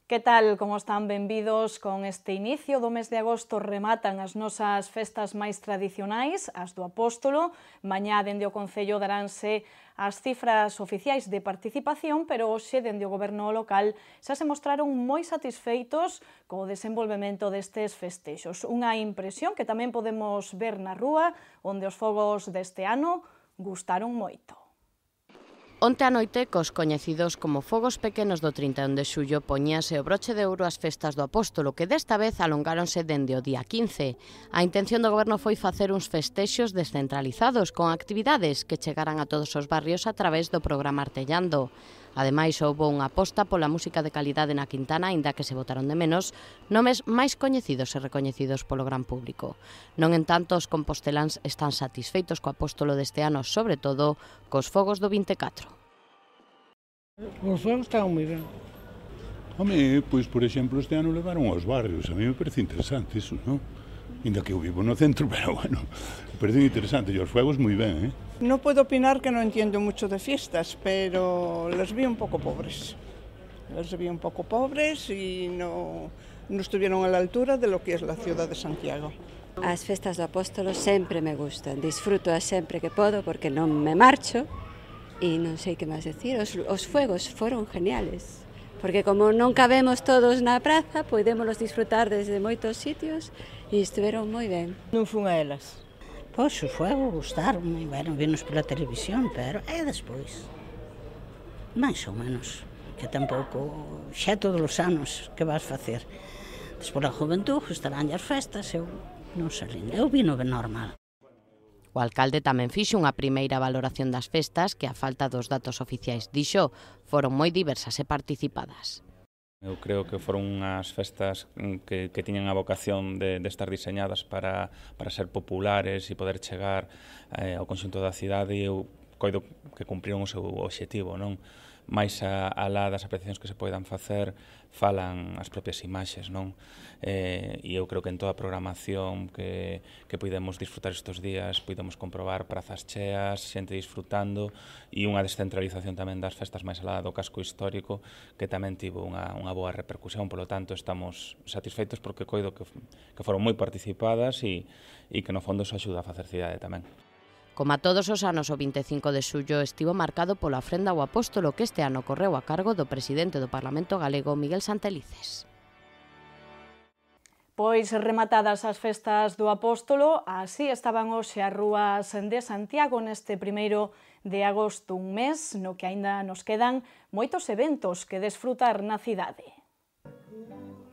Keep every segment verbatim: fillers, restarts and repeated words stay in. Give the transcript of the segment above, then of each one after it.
Que tal, como están? Benvidos. Con este inicio do mes de agosto rematan as nosas festas máis tradicionais, as do Apóstolo. Mañá, dende o Concello, daránse as cifras oficiais de participación, pero hoxe, dende o Goberno local, xa se mostraron moi satisfeitos co desenvolvemento destes festexos. Unha impresión que tamén podemos ver na rúa, onde os fogos deste ano gustaron moito. Onte a noite, cos coñecidos como fogos pequenos do trinta e un de xullo, poñíase o broche de ouro ás festas do Apóstolo, que desta vez alongáronse dende o día quince. A intención do Goberno foi facer uns festexos descentralizados, con actividades que chegaran a todos os barrios a través do programa Artellando. Ademais, houbo unha aposta pola música de calidade na Quintana, aínda que se botaron de menos nomes máis coñecidos e recoñecidos polo gran público. Non en tanto, os composteláns están satisfeitos co Apóstolo deste ano, sobre todo cos fogos do vinte e catro. Os fogos estaban moi ben. Home, pois, por exemplo, este ano levaron aos barrios. A mí me parece interesante iso, non? Ainda que eu vivo no centro, pero bueno, me parece interesante. E os fogos moi ben, eh? No puedo opinar que no entiendo mucho de fiestas, pero los vi un poco pobres. Los vi un poco pobres y no, no estuvieron a la altura de lo que es la ciudad de Santiago. As festas do Apóstolo sempre me gustan, disfruto sempre que podo porque non me marcho e non sei que máis decir. Os, os fuegos foron geniales, porque como non cabemos todos na praza, podémolos disfrutar desde moitos sitios e estiveron moi ben. Non fun a elas. Pois, o fuego gustaron, bueno, vinos pola televisión, pero é despois, máis ou menos, que tampouco, xa todos os anos que vas facer. Despois a juventud, estarán as festas, eu non salín, eu vino ben normal. O alcalde tamén fixo unha primeira valoración das festas que, a falta dos datos oficiais, dixo, foron moi diversas e participadas. Eu creo que foron unhas festas que, que tiñan a vocación de, de estar diseñadas para, para ser populares e poder chegar eh, ao conxunto da cidade, e eu coido que cumpriron o seu obxectivo, non? Mais a, a lá das apreciacións que se poidan facer, falan as propias imaxes, non? Eh, e eu creo que en toda a programación que, que podemos disfrutar estes días, podemos comprobar prazas cheas, xente disfrutando, e unha descentralización tamén das festas máis alá do casco histórico, que tamén tivo unha, unha boa repercusión. Polo tanto, estamos satisfeitos porque coido que, que foron moi participadas e, e que no fondo iso axuda a facer cidade tamén. Como a todos os anos, o vinte e cinco de xullo estivo marcado pola ofrenda ao Apóstolo, que este ano correu a cargo do presidente do Parlamento galego, Miguel Santelices. Pois rematadas as festas do Apóstolo, así estaban hoxe as rúas de Santiago neste primeiro de agosto, un mes no que aínda nos quedan moitos eventos que desfrutar na cidade.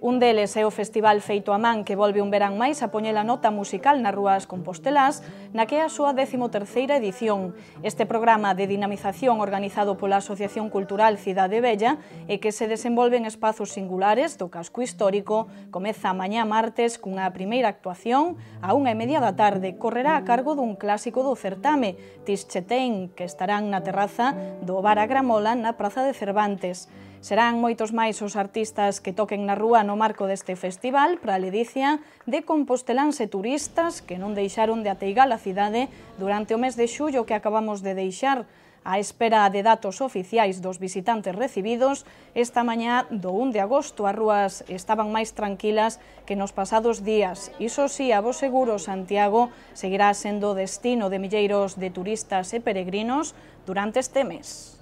Un deles é o Festival Feito a Man, que volve un verán máis a poñer a nota musical nas rúas compostelás, na que é a súa décimo terceira edición. Este programa de dinamización organizado pola Asociación Cultural Cidade Bella e que se desenvolve en espazos singulares do casco histórico comeza mañá martes cunha primeira actuación a unha e media da tarde. Correrá a cargo dun clásico do certame, Tischetén, que estarán na terraza do Bar a Gramola na Praza de Cervantes. Serán moitos máis os artistas que toquen na rúa no marco deste festival para a ledicia de composteláns e turistas que non deixaron de ateigar a cidade durante o mes de xullo que acabamos de deixar. A espera de datos oficiais dos visitantes recibidos, esta mañá do un de agosto as rúas estaban máis tranquilas que nos pasados días. Iso sí, a bo seguro, Santiago seguirá sendo destino de milleiros de turistas e peregrinos durante este mes.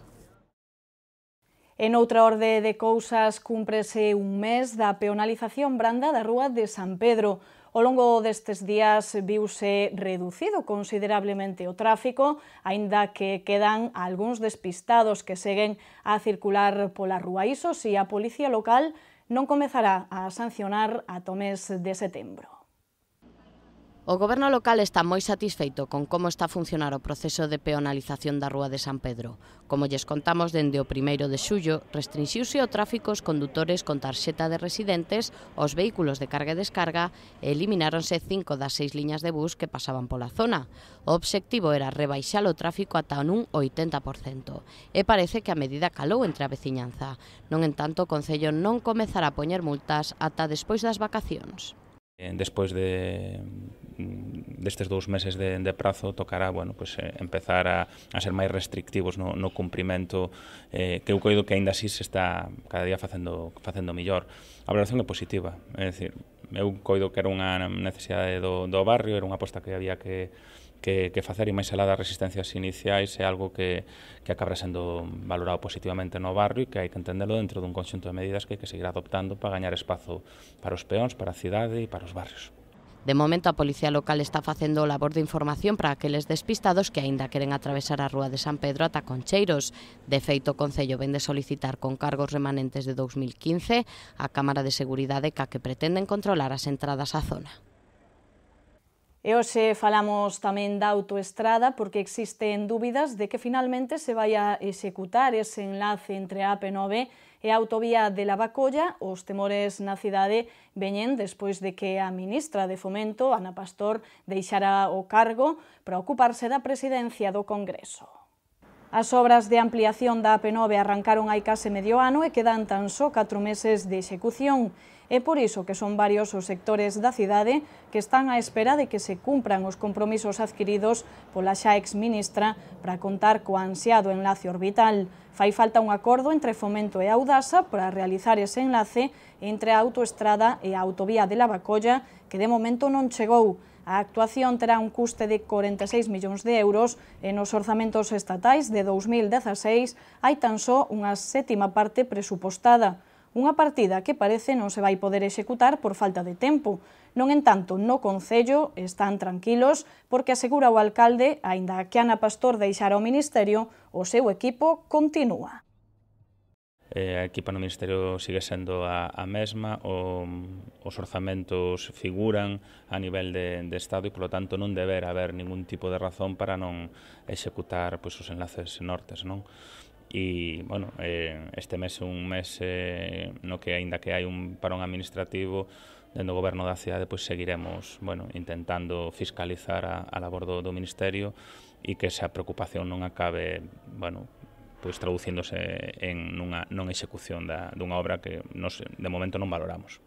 En outra orde de cousas, cúmprese un mes da peonalización branda da Rúa de San Pedro. Ao longo destes días viuse reducido considerablemente o tráfico, aínda que quedan algúns despistados que seguen a circular pola rúa. Iso si, a Policía Local non comezará a sancionar ata o mes de setembro. O Goberno local está moi satisfeito con como está a funcionar o proceso de peonalización da Rúa de San Pedro. Como lles contamos, dende o primeiro de xullo, restrinxiuse o tráfico aos condutores con tarxeta de residentes, os vehículos de carga e descarga, e elimináronse cinco das seis liñas de bus que pasaban pola zona. O obxectivo era rebaixar o tráfico ata un oitenta por cento, e parece que a medida calou entre a veciñanza. Non en tanto, o Concello non comezará a poñer multas ata despois das vacacións. Despois de destes dous meses de, de prazo tocará, bueno, pues, eh, empezar a, a ser máis restrictivos no, no cumprimento, eh, que eu coido que aínda así se está cada día facendo, facendo millor. A valoración é positiva, é dicir, eu coido que era unha necesidade do, do barrio, era unha aposta que había que Que, que facer, e máis alá das resistencias iniciais é algo que, que acaba sendo valorado positivamente no barrio e que hai que entendelo dentro dun conxunto de medidas que hai que seguir adoptando para gañar espazo para os peóns, para a cidade e para os barrios. De momento, a Policía Local está facendo labor de información para aqueles despistados que aínda queren atravesar a Rúa de San Pedro ata Concheiros. De feito, o Concello vén de solicitar con cargos remanentes de dous mil quince a Cámara de Seguridade ca que pretenden controlar as entradas á zona. E hoxe falamos tamén da autoestrada porque existen dúbidas de que finalmente se vai a executar ese enlace entre a A P nove e a autovía de Lavacolla. Os temores na cidade veñen despois de que a ministra de Fomento, Ana Pastor, deixara o cargo para ocuparse da presidencia do Congreso. As obras de ampliación da A P nove arrancaron hai case medio ano e quedan tan só catro meses de execución. É por iso que son varios os sectores da cidade que están á espera de que se cumpran os compromisos adquiridos pola xa ex-ministra para contar co ansiado enlace orbital. Fai falta un acordo entre Fomento e Audasa para realizar ese enlace entre a autoestrada e a autovía de Lavacolla, que de momento non chegou. A actuación terá un custe de corenta e seis millóns de euros e nos orzamentos estatais de dous mil dezaseis hai tan só unha sétima parte presupostada. Unha partida que parece non se vai poder executar por falta de tempo. Non entanto, no Concello están tranquilos porque asegura o alcalde, aínda que Ana Pastor deixara o Ministerio, o seu equipo continúa. Eh, a equipa no Ministerio sigue sendo a, a mesma, o, os orzamentos figuran a nivel de, de Estado e, polo tanto, non deberá haber ningún tipo de razón para non executar pois, os enlaces nortes, non? E, bueno, eh, este mes é un mes eh, no que, aínda que hai un parón administrativo dentro do goberno da cidade, pois seguiremos, bueno, intentando fiscalizar a, a labor do, do Ministerio e que esa preocupación non acabe, bueno, pois traducíndose en nunha non execución da, dunha obra que nos, de momento non valoramos.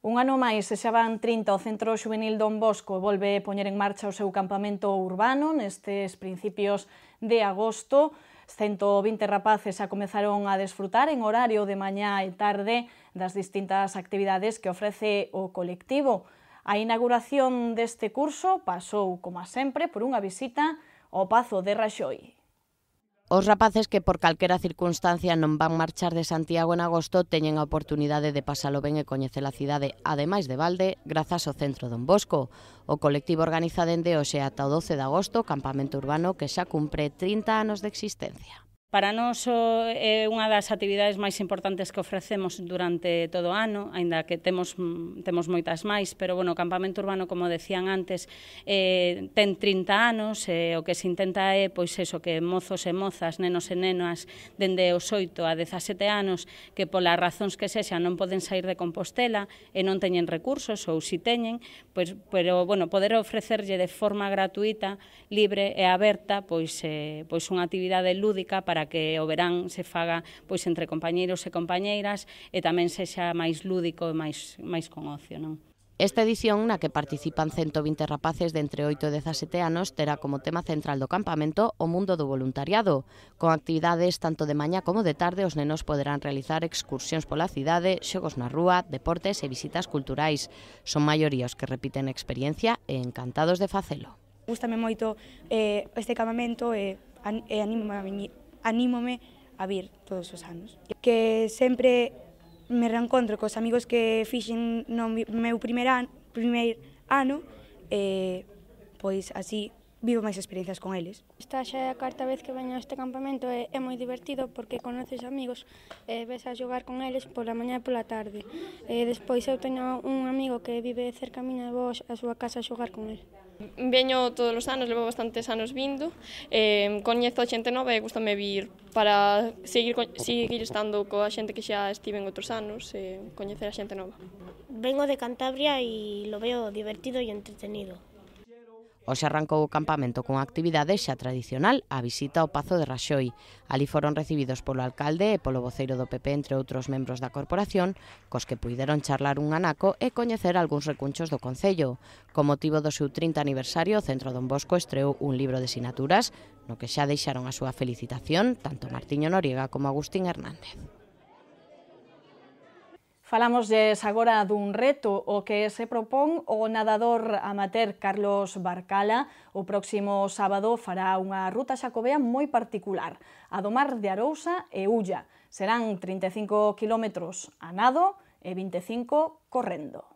Un ano máis, se xa van trinta, o Centro Xuvenil Don Bosco volve poñer en marcha o seu campamento urbano nestes principios de agosto. cento vinte rapaces xa comezaron a desfrutar en horario de mañá e tarde das distintas actividades que ofrece o colectivo. A inauguración deste curso pasou, como sempre, por unha visita ao Pazo de Raxoi. Os rapaces que por calquera circunstancia non van marchar de Santiago en agosto teñen a oportunidade de pasalo ben e coñecer a cidade, ademais de balde, grazas ao Centro Don Bosco. O colectivo organiza dende hoxe ata o doce de agosto o campamento urbano que xa cumpre trinta anos de existencia. Para nós é unha das actividades máis importantes que ofrecemos durante todo o ano, aínda que temos temos moitas máis, pero bueno, o campamento urbano, como decían antes, eh, ten trinta anos, e eh, o que se intenta é pois eso, que mozos e mozas, nenos e nenas, dende os oito a dezasete anos, que polas razóns que sexan non poden sair de Compostela e non teñen recursos, ou si teñen, pois, pero bueno, poder ofrecerlle de forma gratuita, libre e aberta, pois, eh, pois unha actividade lúdica para que o verán se faga pois entre compañeiros e compañeiras e tamén sexa máis lúdico e máis, máis con ocio, non? Esta edición, na que participan cento vinte rapaces de entre oito e dezasete anos, terá como tema central do campamento o mundo do voluntariado. Con actividades tanto de mañá como de tarde, os nenos poderán realizar excursións pola cidade, xogos na rúa, deportes e visitas culturais. Son maioría os que repiten experiencia e encantados de facelo. Gústame moito eh, este campamento e, e anímame, anímome a vir todos os anos. Que sempre me reencontro cos amigos que fixen no meu primer ano, primeiro ano e pois así vivo máis experiencias con eles. Esta xa é a cuarta vez que veño a este campamento e é moi divertido porque conoces amigos e ves a xogar con eles pola mañá e pola tarde. E despois eu teño un amigo que vive cerca miña e vou a súa casa a xogar con ele. Veño todos os anos, levo bastantes anos vindo, eh, coñezo a xente nova e gustame vir para seguir, seguir estando coa xente que xa estive en outros anos e coñecer a xente nova. Vengo de Cantabria e lo veo divertido e entretenido. Hoxe arrancou o campamento con actividade xa tradicional, a visita ao Pazo de Raxoi. Ali foron recibidos polo alcalde e polo voceiro do P P, entre outros membros da corporación, cos que puideron charlar un anaco e coñecer algúns recunchos do Concello. Con motivo do seu trinta aniversario, o Centro Don Bosco estreou un libro de sinaturas, no que xa deixaron a súa felicitación tanto Martiño Noriega como Agustín Hernández. Falámoslles agora dun reto o que se propón o nadador amateur Carlos Barcala. O próximo sábado fará unha ruta xacobea moi particular, a do Mar de Arousa e Ulla. Serán trinta e cinco quilómetros a nado e vinte e cinco correndo.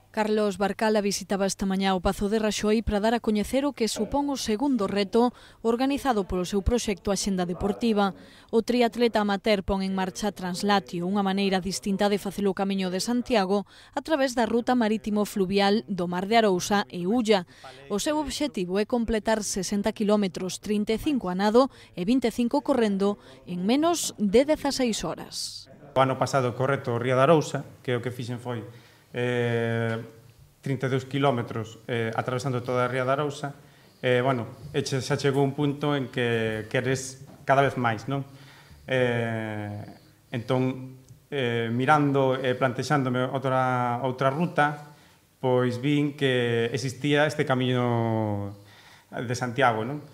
Carlos Barcala visitaba esta mañá o Pazo de Raxoi para dar a coñecer o que supón o segundo reto organizado polo seu proxecto Axenda Deportiva. O triatleta amateur pon en marcha Translatio, unha maneira distinta de facer o camiño de Santiago a través da ruta marítimo fluvial do Mar de Arousa e Ulla. O seu obxectivo é completar sesenta quilómetros, trinta e cinco a nado e vinte e cinco correndo en menos de dezaseis horas. O ano pasado correto o Ría de Arousa, que o que fixen foi Eh, trinta e dous quilómetros eh, atravesando toda a Ría de Arousa. Eh, bueno, xa chegou un punto en que queres cada vez máis, non? Eh, entón, eh, mirando e eh, plantexándome outra, outra ruta, pois vin que existía este camiño de Santiago, non?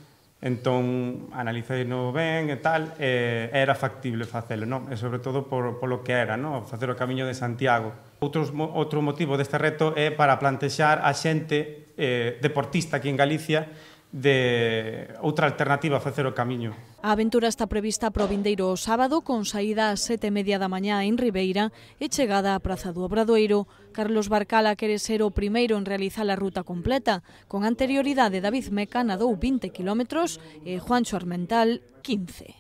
Entón, analicei no ben e tal, e era factible facelo, non? E sobre todo por, por lo que era, non? Facer o camiño de Santiago. Outros, outro motivo deste reto é para plantexar a xente eh, deportista aquí en Galicia de outra alternativa a facer o camiño. A aventura está prevista para o vindeiro o sábado, con saída ás sete e media da mañá en Ribeira e chegada á Praza do Obradoiro. Carlos Barcala quere ser o primeiro en realizar a ruta completa. Con anterioridade, David Meca nadou vinte quilómetros e Juancho Armental quince.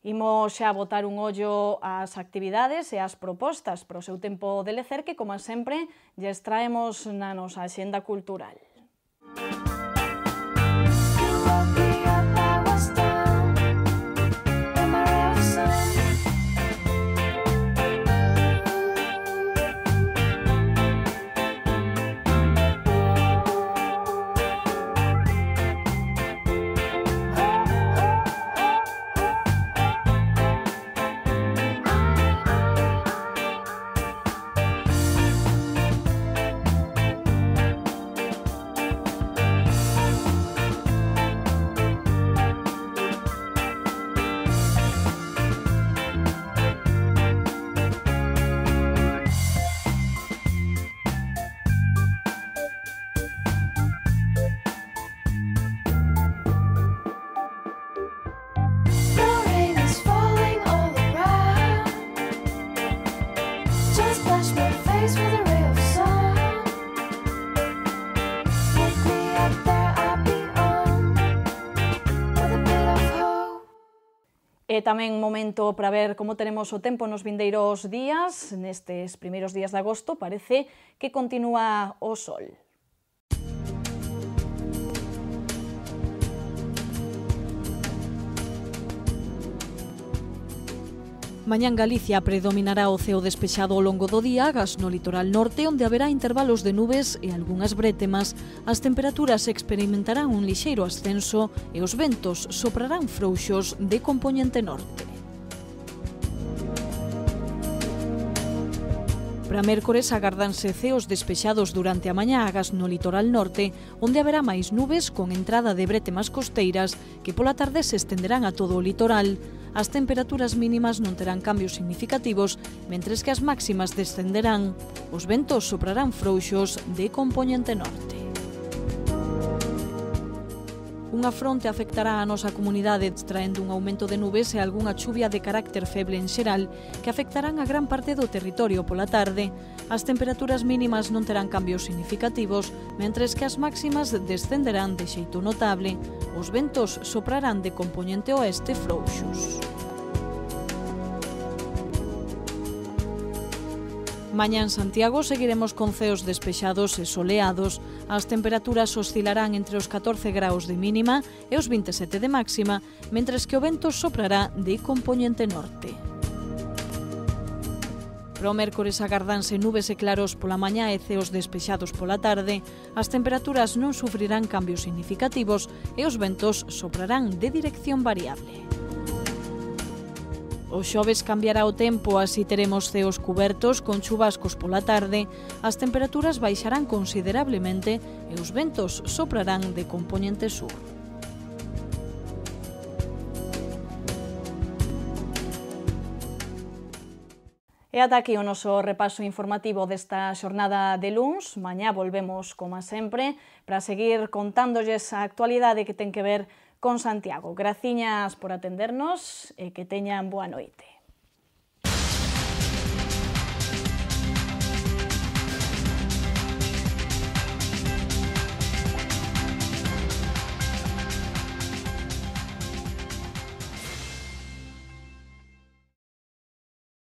Imos xa botar un ollo ás actividades e ás propostas para o seu tempo de lecer que, como sempre, lles traemos na nosa axenda cultural. E tamén momento para ver como tenemos o tempo nos vindeiros días. Nestes primeiros días de agosto parece que continúa o sol. Mañá en Galicia predominará o ceo despexado ao longo do día, agás no litoral norte, onde haberá intervalos de nubes e algunhas brétemas. As temperaturas experimentarán un lixeiro ascenso e os ventos soprarán frouxos de compoñente norte. Para mércores agárdanse ceos despexados durante a mañá agás no litoral norte, onde haberá máis nubes con entrada de brétemas costeiras que pola tarde se estenderán a todo o litoral. As temperaturas mínimas non terán cambios significativos, mentres que as máximas descenderán. Os ventos soprarán frouxos de compoñente norte. Unha fronte afectará a nosa comunidade, traendo un aumento de nubes e algunha chuvia de carácter feble en xeral, que afectarán a gran parte do territorio pola tarde. As temperaturas mínimas non terán cambios significativos, mentres que as máximas descenderán de xeito notable. Os ventos soprarán de compoñente oeste frouxos. Mañá en Santiago seguiremos con ceos despexados e soleados. As temperaturas oscilarán entre os catorce graus de mínima e os vinte e sete de máxima, mentres que o vento soprará de compoñente norte. Para o mércores agardanse nubes e claros pola mañá e ceos despexados pola tarde. As temperaturas non sufrirán cambios significativos e os ventos soprarán de dirección variable. O xoves cambiará o tempo, así teremos ceos cubertos con chubascos pola tarde, as temperaturas baixarán considerablemente e os ventos soprarán de compoñente sur. E ata aquí o noso repaso informativo desta xornada de luns. Mañá volvemos, como sempre, para seguir contándolles a actualidade que ten que ver con Santiago. Graciñas por atendernos e que teñan boa noite.